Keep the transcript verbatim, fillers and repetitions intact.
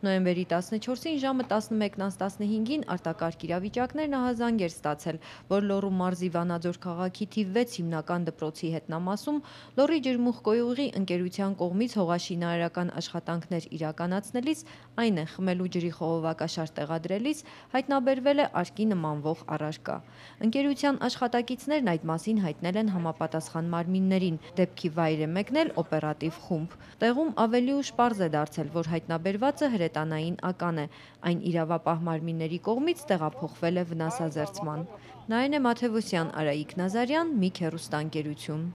Նոյեմբերի տասնչորսին ժամը տասնմեկն անց տասնհինգին արտակարգ իրավիճակներն ահազանգ էր ստացել, որ Լոռու մարզի Վանաձոր քաղաքի թիվ վեց հիմնական դպրոցի հետնամասում Լոռի ջրմուղկոյուղի ընկերության կողմից հողաշինարարական աշխատանքներ իրականացնելիս, այն է խմելու ջրի խողովակաշար տեղադրելիս հայտնաբերվել է արկի նմանվող առարկա։ Ընկերության աշխատակիցներն այդ մասին հայտնել են համապատասխան մարմիններին, դեպքի վայր է մեկնել օպերատիվ խումբ։ Տեղում ավելի ուշ պարզ է դարձել, որ հայտնաբերվածը հրետանային ական է, այն իրավապահ մարմինների կողմից տեղափոխվել է վնասազերծման։ Նարինե Մաթևոսյան, Արայիկ Նազարյան, Միք հեռուստաընկերություն։